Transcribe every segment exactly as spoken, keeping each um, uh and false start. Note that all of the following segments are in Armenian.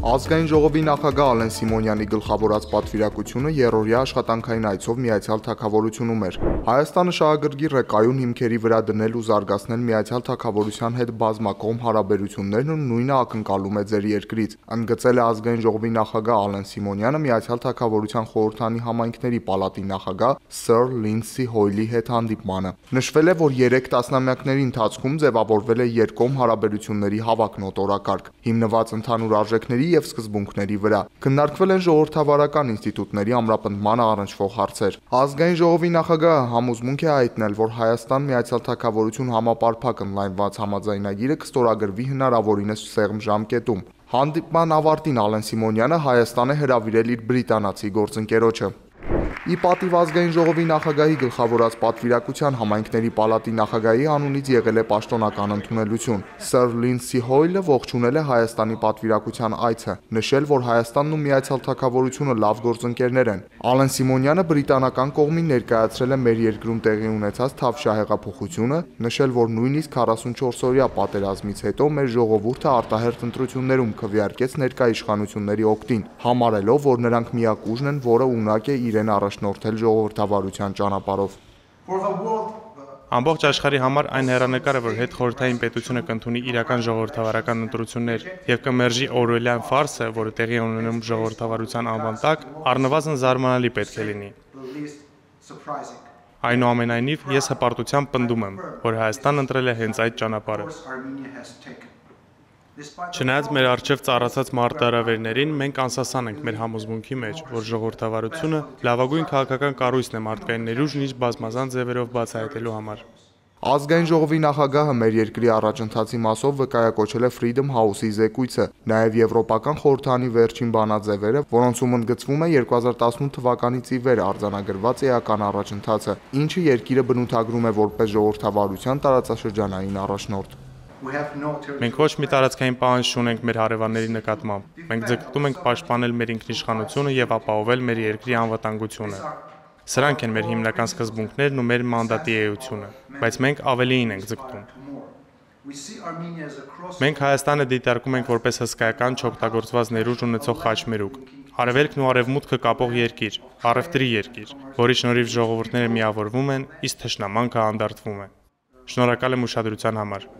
Ազգային ժողովի նախագահ Ալեն Սիմոնյանի գլխավորած պատվիրակությունը երրորդյա աշխատանքային այցով Միացյալ Թագավորությունում էր։ Հայաստանը շահագրգիռ է կայուն հիմքերի վրա դնել ու զարգացնել Միացյալ Թագավորության հետ բազմակողմ հարաբերություններն ու նույնը ակնկալում է ձեր երկրից, ընդգծել է Ազգային ժողովի նախագահ Ալեն Սիմոնյանը Միացյալ Թագավորության խորհրդանի համայնքների պալատի նախագահ Սըր Լինդսի Հոյլի հետ հանդիպմանը։ Նշվել է, որ երեք տասնամյակների ընթացքում ձևավորվել է երկկողմ հարաբերությունների հավակնոտ օրակարգ, հիմնված ընդհանուր արժեքների և սկզբունքների վրա։ Քննարկվել են ժողովրդավարական ինստիտուտների ամրապնդմանը առնչվող հարցեր։ Ազգային ժողովի նախագահը համոզմունք է հայտնել, որ Հայաստան-Միացյալ Թագավորություն համապարփակ ընդլայնված համաձայնագիրը կստորագրվի հնարավորինս սեղմ ժամկետում։ Հանդիպման ավարտին Ալեն Սիմոնյանը Հայաստան է հրավիրել իր բրիտանացի գործընկերոջը։ Ի պատիվ Ազգային ժողովի նախագահի գլխավորած պատվիրակության համայնքների պալատի նախագահի անունից եղել է պաշտոնական ընդունելություն։ Սըր Լինդսի Հոյլը ողջունել է Հայաստանի պատվիրակության այցը, նշել, որ Հայաստանն ու Միացյալ Թագավորությունը լավ գործընկերներ են։ Ալեն Սիմոնյանը բրիտանական կողմին ներկայացրել է մեր երկրում տեղի ունեցած Թավշյա հեղափոխությունը, նշել, որ նույնիսկ քառասունչորսօրյա պատերազմից հետո մեր ժողովուրդը արտահերթ ընտրություններում քվեարկեց ներկա իշխանությունների օգտին, համարելով, որ նրանք միակ ուժն են, որը ունակ է իրեն առաջնորդել ժողովրդավարության ճանապարհով։ Ամբողջ աշխարհի համար այն հեռանկարը, որ հետխորհրդային պետությունը կընդունի իրական ժողովրդավարական ընտրություններ եւ կմերժի օրվելյան ֆարսը, որը տեղի ունենում ժողովրդավարության անվան տակ, առնվազն զարմանալի պետք է լինի։ Այնուամենայնիվ, ես հպարտությամբ պնդում եմ, որ Հայաստանն ընտրել է հենց այդ ճանապարհը։ Չնայած մեր առջև ծառացած մարտահրավերներին, մենք անսասան ենք մեր համոզմունքի մեջ, որ ժողովրդավարությունը լավագույն քաղաքական կառույցն է մարդկային ներուժն իր բազմազան ձևերով բացահայտելու համար։ Ազգային ժողովի նախագահը մեր երկրի առաջընթացի մասով վկայակոչել է Freedom House-ի զեկույցը, նաև Եվրոպական խորհրդանի վերջին բանաձևերը, որոնցում ընդգծվում է երկու հազար տասնութ թվականից ի վեր արձանագրված էական առաջընթացը, ինչը երկիրը բնութագրում է որպես ժողովրդավարության տարածաշրջանային առաջնորդ։ Մենք ոչ մի տարածքային պահանջ չունենք մեր հարևանների նկատմամբ։ Մենք ձգտում ենք պաշտպանել մեր ինքնիշխանությունը եւ ապահովել մեր երկրի անվտանգությունը։ Սրանք են մեր հիմնական սկզբունքներն ու մեր մանդատի էությունը, բայց մենք ավելիին ենք ձգտում։ Մենք Հայաստանը դիտարկում ենք որպես հսկայական չօգտագործված ներուժ ունեցող խաչմերուկ, արևելքն ու արևմուտքը կապող երկիր, առևտրի երկիր, որի շնորհիվ ժողովուրդները միավորվում են, իսկ թշնամանքը անդարտվում է։ Շնորհակալ եմ ուշադրության համար։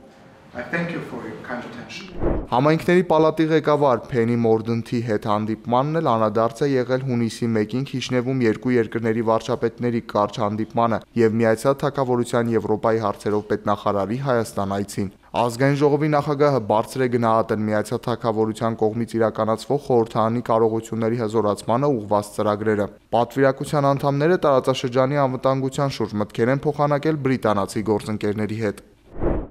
Համայնքների պալատի ղեկավար Փենի Մորդենթի հետ հանդիպմանն էլ անդրադարձ է եղել հունիսի մեկին Քիշնևում երկու երկրների վարչապետների կարճ հանդիպմանը եւ Միացյալ Թագավորության Եվրոպայի հարցերով պետնախարարի Հայաստան այցին։ Ազգային ժողովի նախագահը բարձր է գնահատել Միացյալ Թագավորության կողմից իրականացվող խորհրդանի կարողությունների հզորացմանը ուղղված ծրագրերը։ Պատվիրակության անդամները տարածաշրջանի անվտանգության շուրջ մտքեր են փոխանակել բրիտանացի գործընկերների հետ։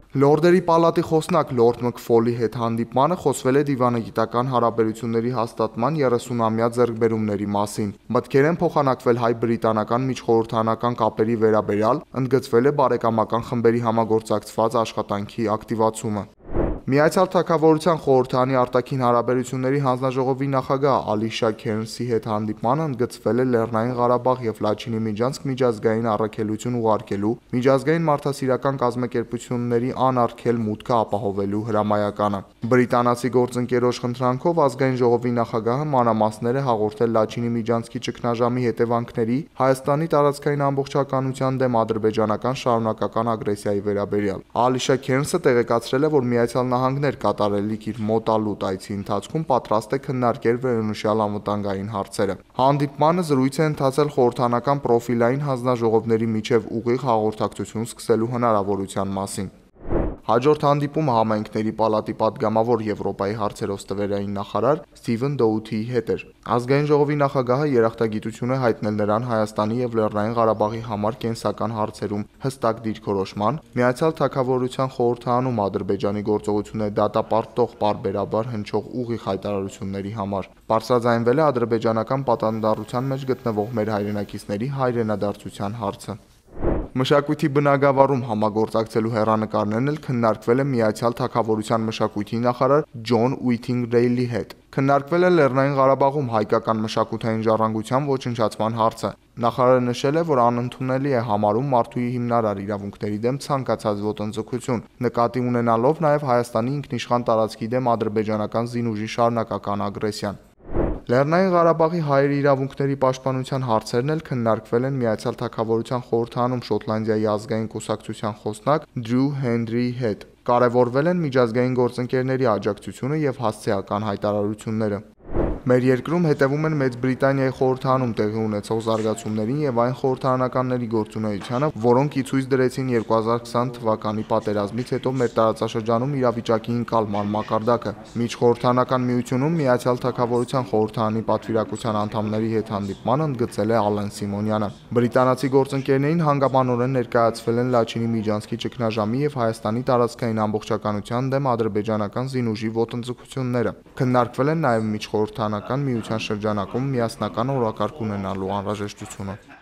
Լորդերի պալատի խոսնակ Լորդ Մքֆոլի հետ հանդիպմանը խոսվել է դիվանագիտական հարաբերությունների հաստատման երեսունամյա ձեռքբերումների մասին։ Մտքեր են փոխանակվել հայ-բրիտանական միջխորհրդանական կապերի վերաբերյալ, ընդգծվել է բարեկամական խմբերի համագործակցված աշխատանքի ակտիվացումը։ Միացյալ Թագավորության խորհրդանի արտաքին հարաբերությունների հանձնաժողովի նախագահ Ալիշա Քերնսի հետ հանդիպմանը ընդգծվել է Լեռնային Ղարաբաղ եւ Լաչինի միջանցք միջազգային առաքելություն ուղարկելու, միջազգային մարդասիրական կազմակերպությունների անարգել մուտքը ապահովելու հրամայականը։ Բրիտանացի գործընկերոջ խնդրանքով Ազգային ժողովի նախագահը մանրամասներ է հաղորդել Լաչինի միջանցքի ճգնաժամի հետևանքների, Հայաստանի տարածքային ամբողջականության դեմ ադրբեջանական շարունակական ագրեսիայի վերաբերյալ։ Ալիշա Քերնսը տեղեկացրել է, որ Միացյալ Նահանգներ կատարելիք իր մոտալուտ այցի ընթացքում պատրաստ է քննարկել վերոնշյալ անվտանգային հարցերը։ Հանդիպմանը զրույց է ընթացել խորհրդանական պրոֆիլային հանձնաժողովների միջև ուղիղ հաղորդակցություն սկսելու հնարավորության մասին։ Հաջորդ հանդիպումը համայնքների պալատի պատգամավոր Եվրոպայի հարցերով ստվերային նախարար Սթիվեն Դոութիի հետ էր։ Ազգային ժողովի նախագահը երախտագիտություն է հայտնել նրան Հայաստանի եւ Լեռնային Ղարաբաղի համար կենսական հարցերում հստակ դիրքորոշման, Միացյալ Թագավորության խորհրդանում Ադրբեջանի գործողությունները դատապարտող պարբերաբար հնչող ուղիղ հայտարարությունների համար։ Բարձրաձայնվել է ադրբեջանական պատանդառության մեջ գտնվող մեր հայրենակիցների հայրենադարձության հարցը։ Մշակույթի բնագավառում համագործակցելու հեռանկարներն էլ քննարկվել է Միացյալ Թագավորության մշակույթի նախարար Ջոն Ուիթինգդեյլի հետ։ Քննարկվել է Լեռնային Ղարաբաղում հայկական մշակութային ժառանգության ոչնչացման հարցը։ Նախարարը նշել է, որ անընդունելի է համարում մարդու հիմնարար իրավունքների դեմ ցանկացած ոտնձգություն, նկատի ունենալով նաև Հայաստանի ինքնիշխան տարածքի դեմ ադրբեջանական զինուժի շարունակական ագրեսիան։ Լեռնային Ղարաբաղի հայերի իրավունքների պաշտպանության հարցերն էլ քննարկվել են Միացյալ Թագավորության խորհրդանում Շոտլանդիայի ազգային կուսակցության խոսնակ Դրյու Հենրիի հետ։ Կարևորվել են միջազգային գործընկերների աջակցությունը եւ հասցեական հայտարարությունները։ Մեր երկրում հետևում են Մեծ Բրիտանիայի խորհրդանում տեղի ունեցող զարգացումներին եւ այն խորհրդարանականների գործունեությանը, որոնք ի ցույց դրեցին երկու հազար քսան թվականի պատերազմից հետո մեր տարածաշրջանում իրավիճակի ընկալման մակարդակը։ Միջխորհրդարանական միությունում Միացյալ Թագավորության խորհրդարանի պատվիրակության անդամների հետ հանդիպման ընդգծել է Ալեն Սիմոնյանը։ Բրիտանացի գործընկերներին հանգամանորեն ներկայացվել են Լաչինի Միջանցքի ճգնաժամի եւ Հայաստանի տարածքային ամբողջականության դեմ ադրբեջանական զինուժի ոտնձգությունները։ Քննարկվել են նաեւ միջխորհրդարանական միության շրջանակում միասնական օրակարգ ունենալու անհրաժեշտությունը։